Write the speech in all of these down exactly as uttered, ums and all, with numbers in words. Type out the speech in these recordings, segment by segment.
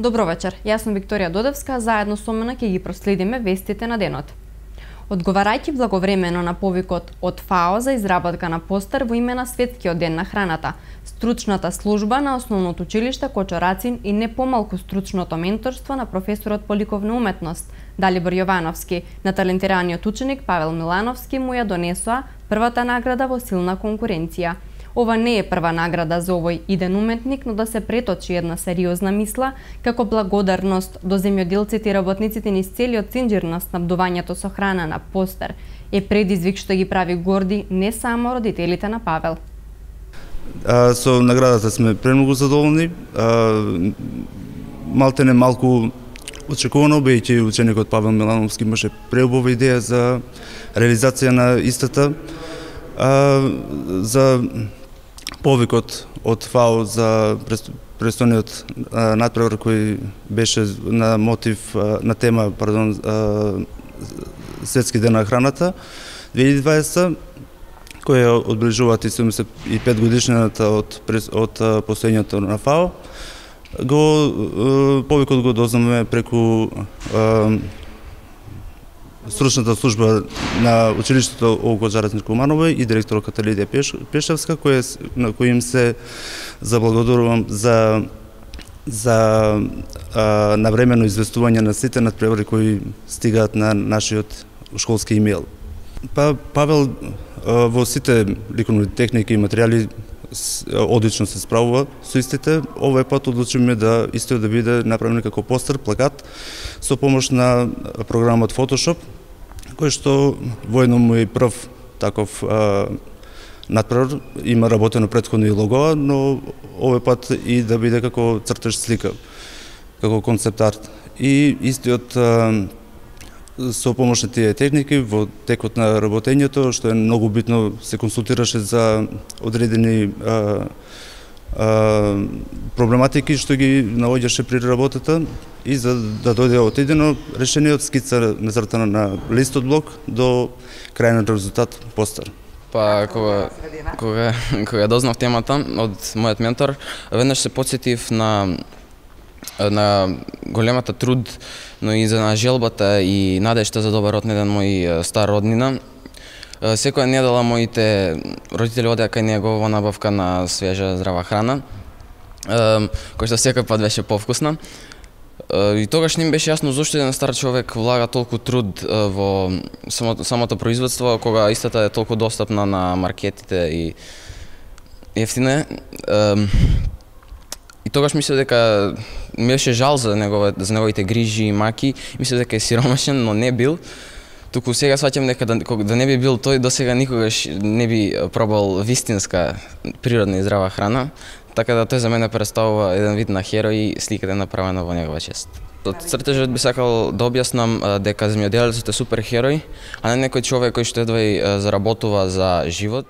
Добро вечер, јас сум Викторија Додевска, заедно со мене ќе ги проследиме вестите на денот. Одговарајќи благовремено на повикот од ФАО за изработка на постер во име на Светскиот ден на храната, стручната служба на Основното училиште Кочо Рацин и не помалку стручното менторство на професорот по ликовна уметност Далибор Јовановски на талентираниот ученик Павел Милановски му ја донесоа првата награда во силна конкуренција. Ова не е прва награда за овој иден уметник, но да се преточи една сериозна мисла како благодарност до земјоделците и работниците низ целиот синџир на снабдувањето со храна на постер е предизвик што ги прави горди не само родителите на Павел. А, со наградата сме премногу задоволни. А, малте не малку очекувано, бејќи ученикот Павел Милановски имаше преубава идеја за реализација на истата. А, за повикот од ФАО за престојниот надпревар кој беше на мотив на тема, пардон, Светски ден на храната две илјади и дваесета, која одбележуваат и седумдесет и пет годишнината од од постоењето на ФАО. Го повикот го дознаваме преку стручната служба на училиштето Олго Жаретник Куманово и директорката Лидија Пешевска, која на кои им се заблагодарувам за за а, навремено известување на сите надпревари кои стигаат на нашиот школски имејл. Па Павел а, во сите ликовни техники и материјали одлично се справува со истите. Овој пат одлучивме да истиот да биде направен како постер, плакат со помош на програмот Photoshop, кој што воедно му е прв таков а, надпревар. Има работено претходно и логоа, но овој пат и да биде како цртеж слика, како концепт арт. И истиот а, со помош на тие техники во текот на работењето, што е многу битно, се консултираше за одредени а, а, проблематики што ги наоѓаше при работата и за да дојде отидено решение од скица нацртана на лист од блок до крајниот резултат постер. Па кога кога кога дознав темата од мојот ментор, веднаш се потсетив на на големата труд, но и за на желбата и надежта за добар однеден мој стар роднина. Секоја недела моите родители одеа кај него во набавка на свежа здрава храна, која што секој пат беше повкусна. И тогаш не им беше јасно зошто еден стар човек влага толку труд во самото, самото производство, кога истата е толку достапна на маркетите и ефтина. И тогаш мислев дека ми беше жал за негове, за неговите грижи и маки, мислев дека е сиромашен, но не бил. Туку сега сваќам дека да, да не би бил тој, досега никогаш не би пробал вистинска природна и здрава храна, така да тој за мене представува еден вид на херој и сликата е направена во негова чест. Од цртежот би сакал да објаснам дека земјоделецот е супер херој, а не некој човек кој што едва и заработува за живот.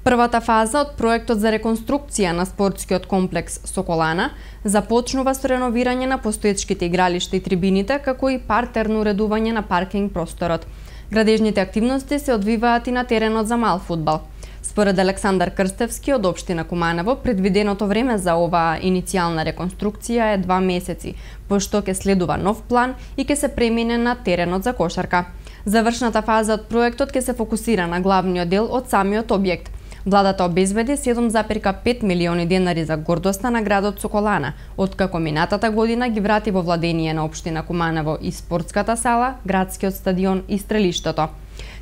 Првата фаза од проектот за реконструкција на спортскиот комплекс Соколана започнува со реновирање на постоечките игралишта и трибините, како и партерно уредување на паркинг просторот. Градежните активности се одвиваат и на теренот за мал фудбал. Според Александар Крстевски од општина Куманово, предвиденото време за оваа иницијална реконструкција е два месеци, пошто ќе следува нов план и ќе се премине на теренот за кошарка. Завршната фаза од проектот ќе се фокусира на главниот дел од самиот објект. Владата обезбеди седум запирка пет милиони денари за гордоста на градот Соколана, откако минатата година ги врати во владение на општина Куманово и спортската сала, градскиот стадион и стрелиштето.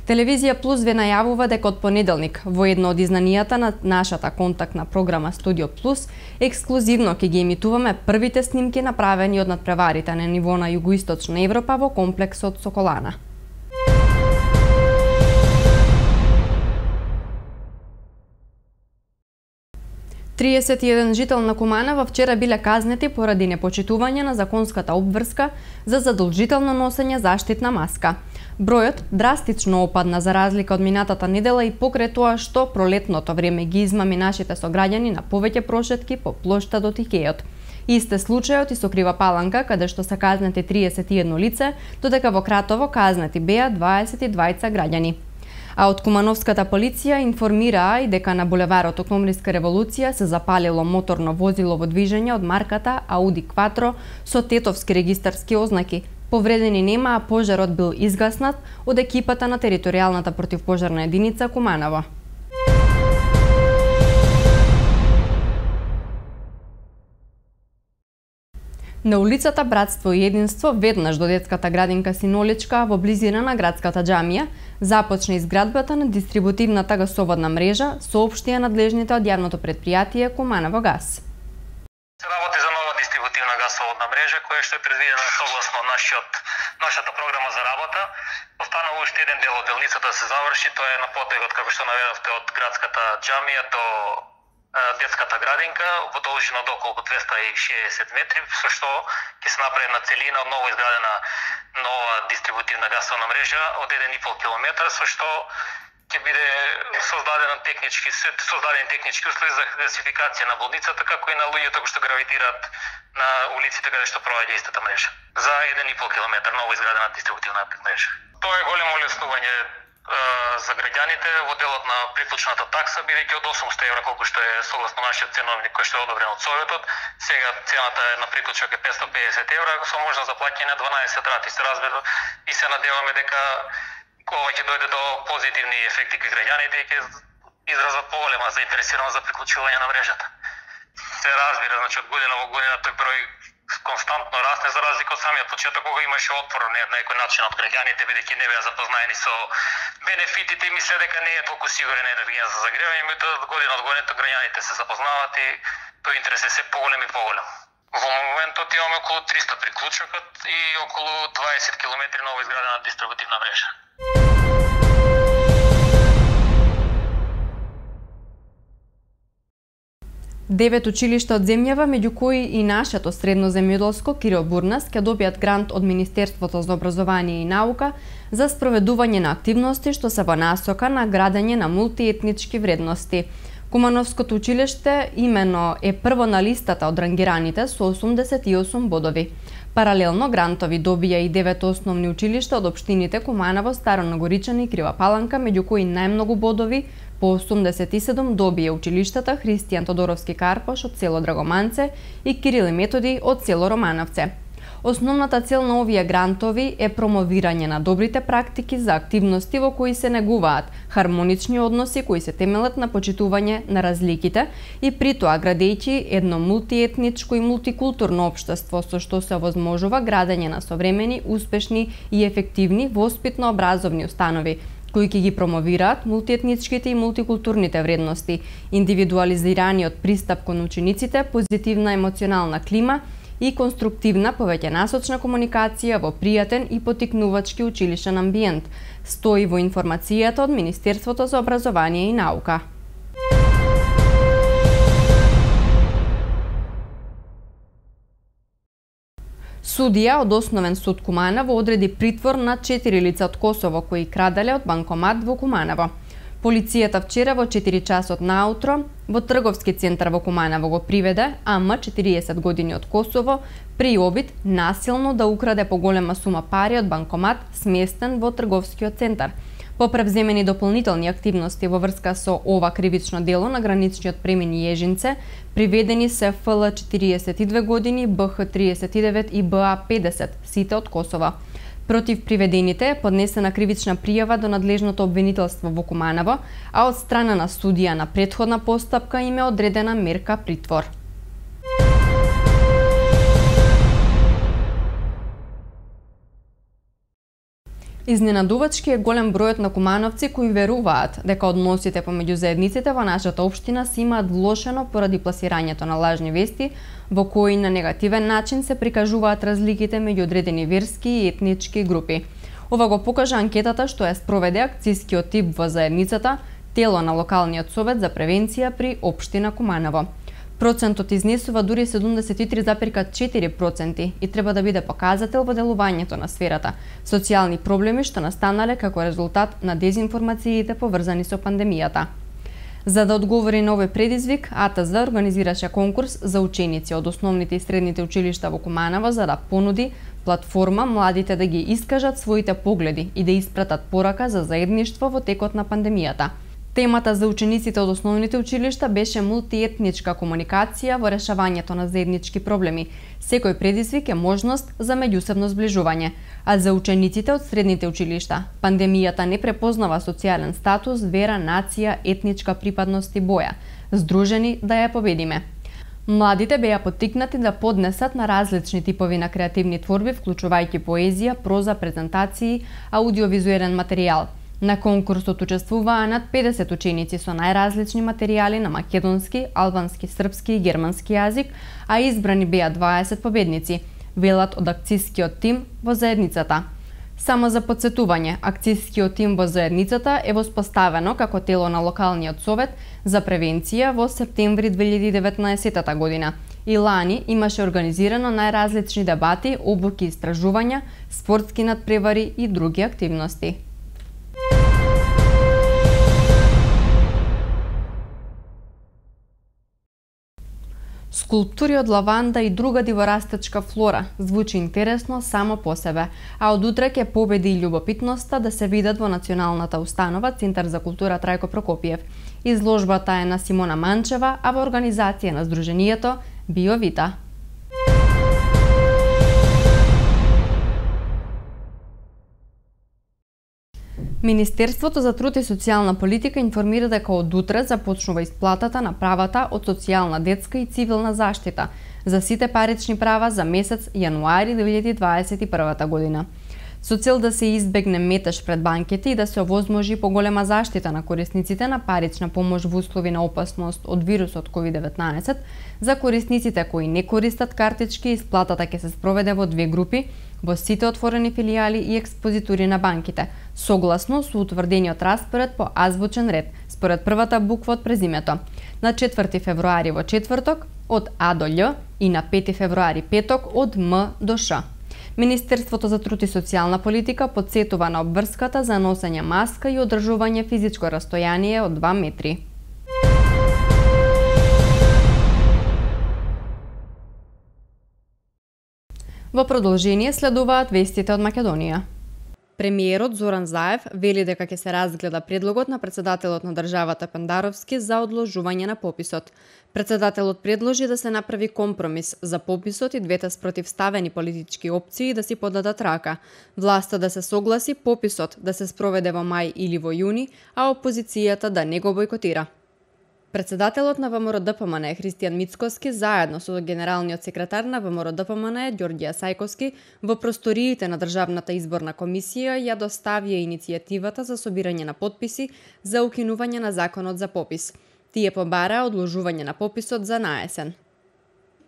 Телевизија Плюс ве најавува дека од понеделник во едно од изданијата на нашата контактна програма Студио Плюс ексклузивно ќе ги емитуваме првите снимки направени од надпреварите на ниво на југоисточна Европа во комплексот Соколана. триесет и еден жител на Куманово вчера биле казнети поради непочитување на законската обврска за задолжително носење заштитна маска. Бројот драстично опадна за разлика од минатата недела и покрај тоа што пролетното време ги измами нашите сограѓани на повеќе прошетки по плоштадот и Икејот. Исте случајот и со Крива Паланка, каде што се казнети триесет и едно лице, додека во Кратово казнети беа дваесет и двајца граѓани. А од Кумановската полиција информираа и дека на булеварот Октомвриска револуција се запалило моторно возило во движење од марката Ауди Кватро со тетовски регистарски ознаки. Повредени нема, а пожарот бил изгаснат од екипата на територијалната противпожарна единица Куманово. На улицата Братство и единство, веднаш до детската градинка Синоличка во близина на градската џамија, започна изградбата на дистрибутивната гасоводна мрежа, соопштија надлежните од јавното предпријатие Куманово газ. Се работи за нова дистрибутивна гасоводна мрежа која што е предвидена согласно нашиот нашата програма за работа. Останува уште еден дел од делницата да се заврши, тоа е на потегот како што наведовте од градската џамија до детската градинка во должина од околу двеста и шеесет метри, со што ќе се направи на целина од ново изградена нова дистрибутивна гасовна мрежа од еден и пол километар, со што ќе биде создаден технички создадени технички услови за гасификација на болницата, како и на луѓето кои што гравитираат на улиците каде што проаѓа истата мрежа. За еден и пол километар ново изградена дистрибутивна мрежа. Тоа е големо олеснување за граѓаните во делот на приклучната такса, бидејќи од осумстотини евра, колку што е согласно нашиот ценовник кој што е одобрен од Советот, сега цената е на приклучок е петстотини и педесет евра со можност за плаќање на дванаесет рати. Се разбира и се надеваме дека ова ќе дојде до позитивни ефекти кај граѓаните и ќе изразат поголема заинтересираност за приклучување на мрежата. Се разбира, значи од година во година тој број константно расте, за разлика од самиот почеток кога имаше отпор на некој начин од граѓаните, бидејќи не беа запознаени со бенефитите и мисле дека не е толку сигурен енергија за загревање, меѓутоа година од година граѓаните се запознаваат и тој интерес е се поголем и поголем. Во моментот имаме околу триста приклучокот и околу дваесет километри ново изградена дистрибутивна мрежа. Девет училишта од земјава, меѓу кои и нашето средно земјоделско Кирил Бурнас, ќе добијат грант од Министерството за образование и наука за спроведување на активности што се во насока на градење на мултиетнички вредности. Кумановското училиште имено е прво на листата од рангираните со осумдесет и осум бодови. Паралелно грантови добија и девет основни училишта од општините Куманово, Старо Нагоричани и Крива Паланка, меѓу кои најмногу бодови по осумдесет и седум добија училиштата Христијан Тодоровски Карпош од село Драгоманце и Кирил и Методи од село Романовце. Основната цел на овие грантови е промовирање на добрите практики за активности во кои се негуваат хармонични односи кои се темелат на почитување на разликите и при тоа градејќи едно мултиетничко и мултикултурно општество со што се овозможува градење на современи, успешни и ефективни воспитно-образовни установи кои ќе ги промовираат мултиетничките и мултикултурните вредности, индивидуализираниот пристап кон учениците, позитивна емоционална клима и конструктивна повеќе насочна комуникација во пријатен и поттикнувачки училишен амбиент, стои во информацијата од Министерството за образование и наука. Судија од Основен суд Куманово одреди притвор на четири лица од Косово кои краделе од банкомат во Куманово. Полицијата вчера во четири часот наутро во трговски центар во Куманово го приведе А М, четириесет години од Косово, при обид насилно да украде поголема сума пари од банкомат сместен во трговскиот центар. По превземени дополнителни активности во врска со ова кривично дело на граничниот премин Јежинце, приведени се Ф Л четириесет и две години, Б Х триесет и девет и Б А педесет, сите од Косово. Против приведените е поднесена кривична пријава до надлежното обвинителство во Куманово, а од страна на судија на претходна постапка им е одредена мерка притвор. Изненадувачки е голем бројот на кумановци кои веруваат дека односите помеѓу заедниците во нашата општина се имаат влошено поради пласирањето на лажни вести во кои на негативен начин се прикажуваат разликите меѓу одредени верски и етнички групи. Ова го покажа анкетата што ја спроведе акцијскиот тип во заедницата, тело на локалниот совет за превенција при општина Куманово. Процентот изнесува дури седумдесет и три зарез и четири проценти и треба да биде показател во делувањето на сферата. Социјални проблеми што настанале како резултат на дезинформациите поврзани со пандемијата. За да одговори на овој предизвик, А Т З организираше конкурс за ученици од основните и средните училишта во Куманово за да понуди платформа младите да ги искажат своите погледи и да испратат порака за заедништво во текот на пандемијата. Темата за учениците од основните училишта беше мултиетничка комуникација во решавањето на заеднички проблеми. Секој предизвик е можност за меѓусебно зближување, а за учениците од средните училишта пандемијата не препознава социјален статус, вера, нација, етничка припадност и боја. Здружени да ја победиме. Младите беа поттикнати да поднесат на различни типови на креативни творби, вклучувајќи поезија, проза, презентации, аудиовизуелен материјал. На конкурсот учествуваа над педесет ученици со најразлични материјали на македонски, албански, српски и германски јазик, а избрани беа дваесет победници, велат од акцискиот тим во заедницата. Само за потсетување, акцискиот тим во заедницата е воспоставено како тело на локалниот совет за превенција во септември две илјади и деветнаесетта година. И лани имаше организирано најразлични дебати, обуки, истражувања, спортски надпревари и други активности. Скулптури од лаванда и друга диворастечка флора звучи интересно само по себе, а од утре ќе победи и љубопитноста да се видат во Националната установа Центар за култура Трајко Прокопиев. Изложбата е на Симона Манчева, а во организација на Сдруженијето Биовита. Министерството за труд и социјална политика информира дека од утре започнува исплатата на правата од социјална, детска и цивилна заштита за сите парични права за месец јануари две илјади дваесет и прва година. Со цел да се избегне метеж пред банките и да се овозможи поголема заштита на корисниците на парична помош во услови на опасност од вирусот ковид деветнаесет, за корисниците кои не користат картички, исплатата ќе се спроведе во две групи во сите отворени филијали и експозитури на банките, согласно со утврдениот распоред по азбучен ред, според првата буква од презимето. На четврти февруари во четврток од А до Л и на пети февруари петок од М до Ш. Министерството за труд и социјална политика потсетува на обврската за носење маска и одржување физичко растојание од два метри. Во продолжение следуваат вестите од Македонија. Премиерот Зоран Заев вели дека ќе се разгледа предлогот на председателот на државата Пендаровски за одложување на пописот. Председателот предложи да се направи компромис за пописот и двете спротивставени политички опции да си подадат рака. Власта да се согласи пописот да се спроведе во мај или во јуни, а опозицијата да не го бойкотира. Председателот на ВМРО-ДПМН Христијан Мицкоски заедно со генералниот секретар на ВМРО-ДПМН Ѓорѓија Сајковски во просториите на Државната изборна комисија ја доставија иницијативата за собирање на потписи за укинување на законот за попис. Тие побараа одложување на пописот за наесен.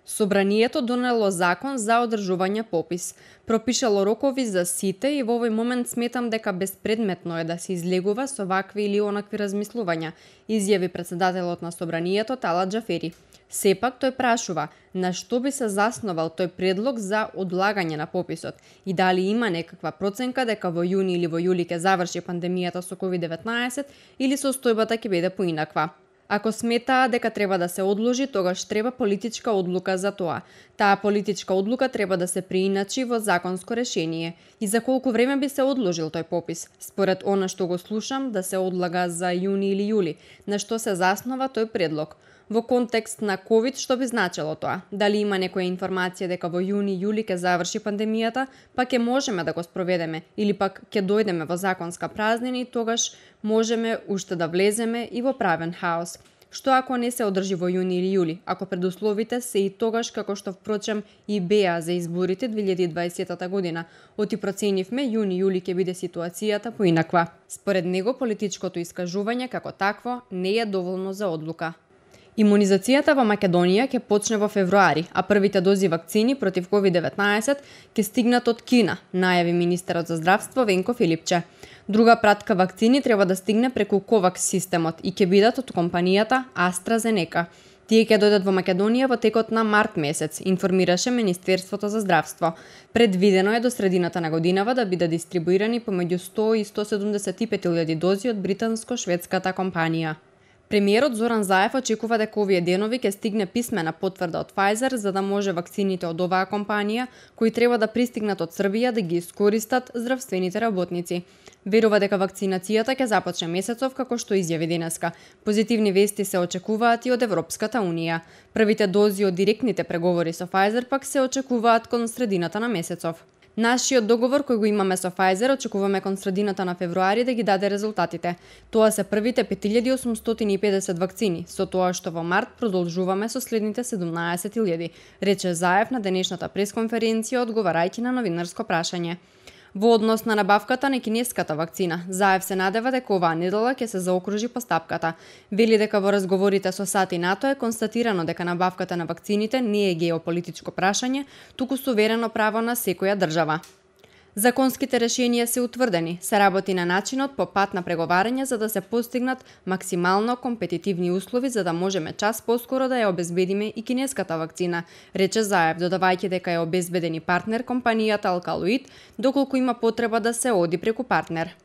Собранието донело закон за одржување попис. Пропишало рокови за сите и во овој момент сметам дека безпредметно е да се излегува со вакви или онакви размислувања, изјави председателот на Собранието Талат Џафери. Сепак тој прашува на што би се засновал тој предлог за одлагање на пописот и дали има некаква проценка дека во јуни или во јули ќе заврши пандемијата со ковид деветнаесет или состојбата ќе биде поинаква. Ако сметаа дека треба да се одложи, тогаш треба политичка одлука за тоа. Таа политичка одлука треба да се прииначи во законско решение. И за колку време би се одложил тој попис? Според она што го слушам, да се одлага за јуни или јули. На што се заснова тој предлог? Во контекст на ковид, што би значело тоа? Дали има некоја информација дека во јуни-јули ќе заврши пандемијата, па ќе можеме да го спроведеме, или пак ќе дојдеме во законска празнина и тогаш можеме уште да влеземе и во правен хаос. Што ако не се одржи во јуни или јули, ако предусловите се и тогаш како што впрочем и беа за изборите две илјади и дваесетта година, оти проценивме јуни-јули ќе биде ситуацијата поинаква. Според него политичкото искажување како такво не е доволно за одлука. Имунизацијата во Македонија ќе почне во февруари, а првите дози вакцини против ковид деветнаесет ќе стигнат од Кина, најави министерот за здравство Венко Филипче. Друга пратка вакцини треба да стигне преку Ковакс системот и ќе бидат од компанијата AstraZeneca. Тие ќе дојдат во Македонија во текот на март месец, информираше Министерството за здравство. Предвидено е до средината на годинава да бидат дистрибуирани помеѓу сто и сто седумдесет и пет илјади дози од британско-шведската компанија. Премиерот Зоран Заев очекува дека овие денови ќе стигне писмена потврда од Pfizer за да може вакцините од оваа компанија, кои треба да пристигнат од Србија, да ги искористат здравствените работници. Верува дека вакцинацијата ќе започне месецов, како што изјави денеска. Позитивни вести се очекуваат и од Европската Унија. Првите дози од директните преговори со Pfizer пак се очекуваат кон средината на месецов. Нашиот договор кој го имаме со Pfizer очекуваме кон средината на февруари да ги даде резултатите. Тоа се првите пет илјади осумстотини и педесет вакцини, со тоа што во март продолжуваме со следните седумнаесет илјади, рече Заев на денешната пресконференција одговарајќи на новинарско прашање. Во однос на набавката на кинеската вакцина, Заев се надева дека оваа недела ќе се заокружи постапката. Вели дека во разговорите со САД и НАТО е констатирано дека набавката на вакцините не е геополитичко прашање, туку суверено право на секоја држава. Законските решенија се утврдени, се работи на начинот по пат на преговарање за да се постигнат максимално компетитивни услови за да можеме час поскоро да ја обезбедиме и кинеската вакцина, рече Заев, додавајќи дека е обезбеден и партнер компанијата Алкалоид, доколку има потреба да се оди преку партнер.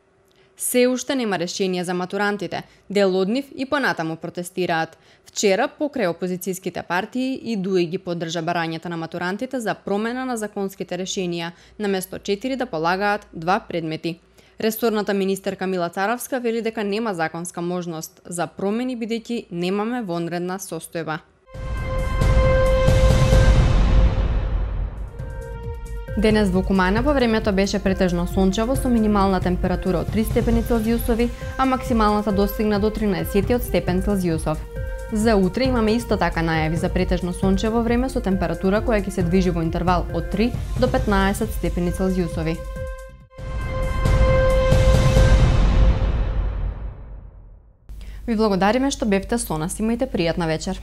Се уште нема решение за матурантите, дел од нив и понатаму протестираат. Вчера, покрај опозицијските партии, и ДУИ ги поддржа барањата на матурантите за промена на законските решенија, наместо четири да полагаат два предмети. Ресорната министерка Мила Царавска вели дека нема законска можност за промени бидејќи немаме вонредна состојба. Денес во Куманово времето беше претежно сончево со минимална температура од три степени Целзиусови, а максималната достигна до тринаесет степен Целзиусов. За утре имаме исто така најави за претежно сончево време со температура која ќе се движи во интервал од три до петнаесет степени Целзиусови. Ви благодариме што бевте со нас, имајте пријатна вечер.